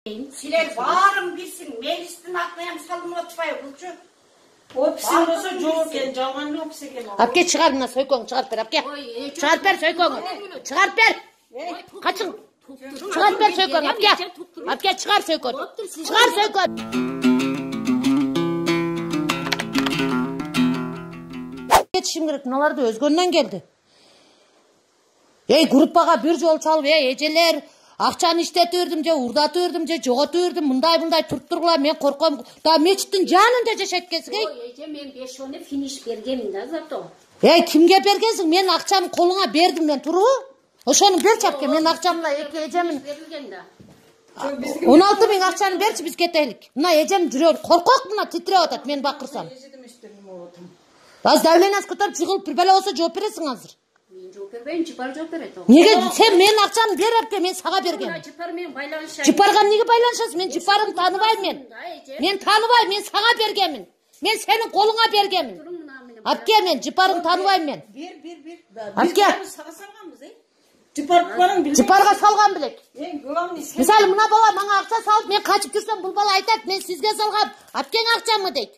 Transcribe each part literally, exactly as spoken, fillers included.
Siler varım bilsin, meclisten aklıyam salım atpay bulcu. Ofisin olsa жоқ екен, жалған офис екен. Апке шығар мына сойкоң, шығарып бер, апке. Шығарып бер сойкоңы. Шығарып бер. Қачың. Шығарып бер сойкоң, апке. Апке шығар сойкоң. Шығар сойкоң. Кетишим керек, мыналарды өзгөннөн келди. Ей, группага бир жол чалып, ей, эжелер, акчаны иштетип бердим же, урдатып бердим же, жоготуп бердим, мындай-мындай туруп тургула, мен корком. Да мечиттин жанында жашайт экенсиң, эй. Ой, эже, мен беш оны финиш бергенмин да зато. Эй, кимге бергенсиң? Мен акчаны колуңа бердим мен, турбу? Ошону берчи апке, мен акчамды эки эжемин. он алты миң акчаны берчи, биз кетелик. Мына эжем жүрөгү коркок мына титиреп атат, мен бакырсам. Аз давлениянсы көтөрүп жыгылып бир бала болсо жооп бересиң азыр. Мен жооп бербейм, Жыпар жооп берет. Неге сен мен акчаны бер апке, мен сага бергем. Жыпар менен байланышайын. Жыпарга эмнеге байланышасың? Мен Жыпарыңды тааныбайм мен. Мен тааныбайм, мен сага бергемин. Мен сенин колуңа бергемин. Апке, мен Жыпарыңды тааныбайм мен. Бер, бер, бер. Апке. Сага салганбыз, э? Жыпар барың билбейм. Жыпарга салган белек. Эң главный сен. Мисалы, мына бала мага акча салып, мен качып жүрсөм, бул бала айтат, мен сизге салгам. Апкең акчамы дейт.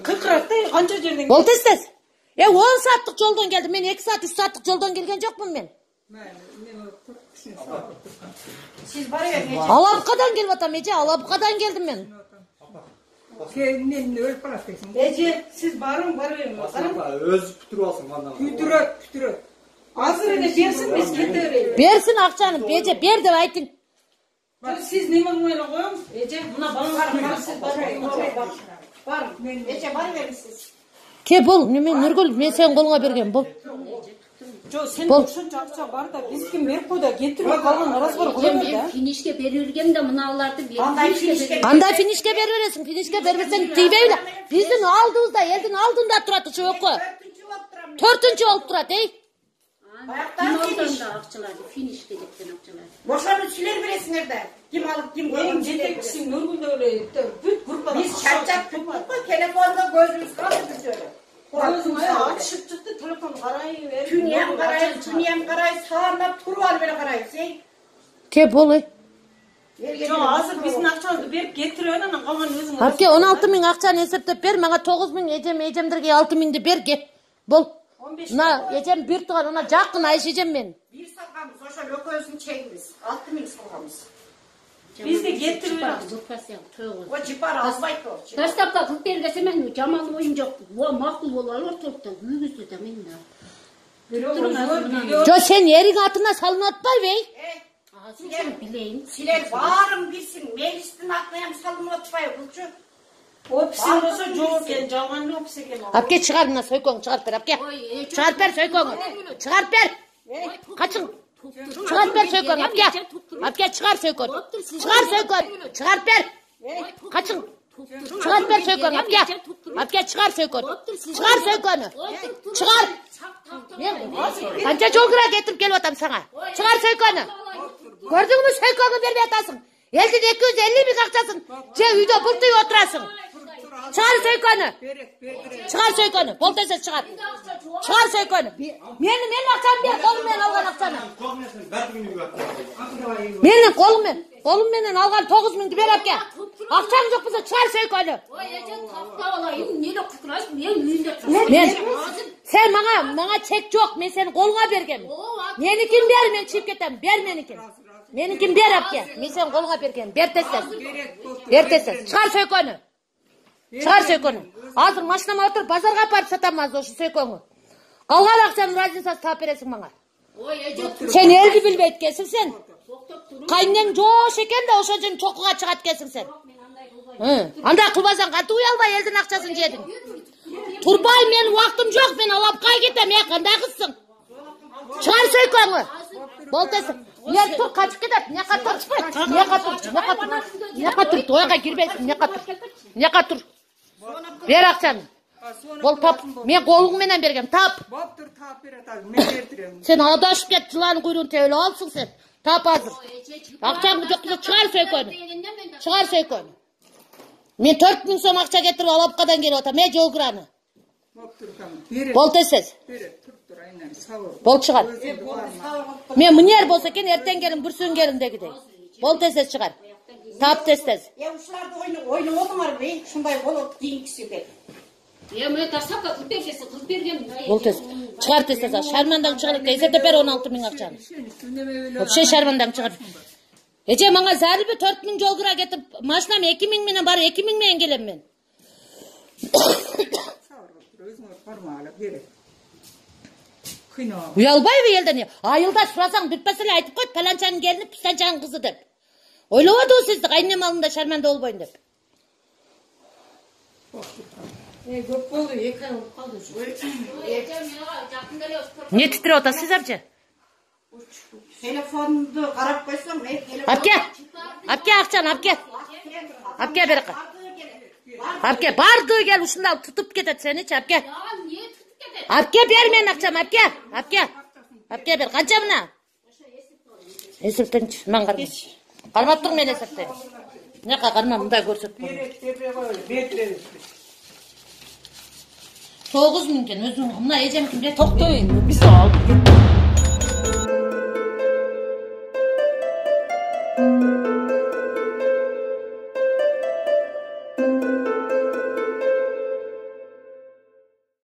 Кыркыракты канча жерден. Бол тез-тез. Э, он сааттык жолдон келдим. Мен эки саат, үч сааттык жолдон келген жокмун мен. Siz бара бериңиз. Алапкадан келип атам, эже, Алапкадан келдим мен. Мен өлүп каласың. Эже, сиз барың, бара бериңиз. Өз бүтүрүп алсың мындан. Бүтүрөт, бүтүрөт. Азыр эле берсин, биз кете берели. Берсин акчаны, эже, бер деп айтың. Сиз неме эле коюңуз? Эже, мына балаңар сиз барың. Бар, мен эже бара бериңиз. Ке бол, мен Нургүл, мен сенин колуңа бергем, бол. Жо, сен ошончо акча бар да, биз ким берип кой да, кетирип калган разбор кыла бер да. Мен финишке берилгем да мыналарды берип. Кандай финишке? Кандай финишке берип бересиң? Финишке бербесең тийбейби? Биздин алдыбызда, элдин алдында турат ушул өкө. Төртүнчү болуп турат, эй. Баяктан финиш акчаларды, финишке кеткен акчалар. Бошону силер бересиңер да. Ким алып, ким койгон Эң жетекчиси Нургүл эле бүт группада. Биз чарчап бүттүк, телефонда көзүбүз калды бүт. Көзүм ачып чыкты, телефон карай берип. Түнүям карай, түнүям карай, саамап туруп алып эле карайбыз, эй. Ке бол, эй. Жо, азыр биздин акчабызды берип кетирип анан калган өзүң. Апке, он алты миң акчаны эсептеп бер, мага тогуз миң, эжем, эжемдерге алты миңди бер, ке. Бол. Мына эжем бир туган, ана жакын Айша эжем мен. Бир салганбыз, ошо экөөбүздүн чегибиз. алты миң салганбыз. Бизди кетирип О, Жыпар албайт о. Таштапка кылып бергесе мен жаман оюм жок. Во макул болуп алып ортолукта күйгүздү да мен да. Жо, сен эриң атына салынып атпайбы, эй? Силер билейин. Силер баарын билсин, мeclisten аклыям салынып атпайбы булчу. Офисин болсо жоқ экен, жалган офис экен. Апке чыгар мына сойкоң, чыгарып бер, апке. Чыгарып бер сойкоңу. Чыгарып бер. Качың. Чыгарып бер сойкоң, апке. Апке чыгар сойкоң. Чыгар сойкоң. Чыгарып бер. Качың. Чыгарып бер сойкоң, апке. Апке чыгар сойкоң. Чыгар сойкоңу. Чыгар. Мен канча жол кыра кетип келип атам сага. Чыгар сойкоңу. Көрдүңбү, сойкоңу бербей атасың. Элдин эки жүз элүү миң акчасын же үйдө буртуп отурасың. Чыгар сойкону. Чыгар сойкону. Бол тез чыгар. Чыгар сойкону. Мени мен акчамды бер, колум менен алган акчаны. Менин колум менен, колум менен алган тогуз миңди бер апке. Акчаң жок болсо чыгар сойкону. Ой, эже, таптап алайын. Эмне кутурасың? Мен үйүндө Мен сен мага, мага чек жок, мен сени колуңа бергем. Меникин бер, мен чыгып кетем. Бер меникин. Меникин бер апке. Мен сени колуңа бергем. Бер тез-тез. Бер тез-тез. Чыгар сойкону. Чыгар сойкону. Азыр машинама отуруп базарга апарып сатам азыр ошо сойкону. Калган акчанын разницасын таап бересиң мага. Ой, эже, Сен элди билбейт экенсиң сен. Кайнең жош экен да ошо үчүн чокуга чыгат экенсиң сен. Андай кылбасаң кантип уя албай элдин акчасын жедиң? Турбай, мен убактым жок, мен Алапкага кетем, э, кандай кызсың? Чыгар сойкоңу. Бол тез. Мен тур качып кетет. Мияка тур. Мияка тур. Мияка тур. Мияка тур. Тояга кирбейсиң. Мияка тур. Мияка тур. Бер акчаны. Бол тап. Мен колуң менен бергем. Тап. Боптур, таап берет азыр. Мен бертирем. Сен адашып кет, жыланын куйругун тебелеп алсың сен. Тап азыр. Акчаңды жок болсо чыгар сойкону. Чыгар сойкону. Мен төрт миң сом акча кетирип Алапкадан келип атам. Мен жолгураны. Боптур, тамам. Берет. Бол тез. Берет. Туруптур, айнан. Сабыр. Бол чыгар. Мен мынер болсо экен, эртең келин, бүрсүн келин дегидей. Бол тез чыгар. Тап тез тез. Я ушуларды ойноп отуңарбы? Ушундай болот кийинкиси деп. Я мы тасакка кыз берсе кыз берген. Бол тез. Чыгар тез тез. Шармандан чыгар. Эсептеп бер он алты миң акчаны. Вообще шармандан чыгар. Эже мага зарылбы төрт миң жол кыра кетип, машинам эки миң менен бар, эки миң менен келем мен. Уялбайбы элден? Айылда сурасаң бүтпөс эле айтып койт, паланчанын келини пистанчанын кызы деп. Ойлободубу сизди кайнем алдында шарманда болбойн деп. Э, көп болду, эки ай болуп калды. Не титирип атасыз апчы? Телефонду карап койсоң, мен телефон. Апке. Апке акчаны, апке. Апке берек. Апке, барды кел ушунда тутуп кетет сеничи, апке. Апке бер мен акчам, апке. Апке. Апке бер. Канча мына? Эсептенчи, мен кармам. Кармаптың мен эсептен. Нека карма мындай көрсөтпөм. тогуз миң экен өзүң. Мына эжем кимде? Токтой, биз алып кеттик.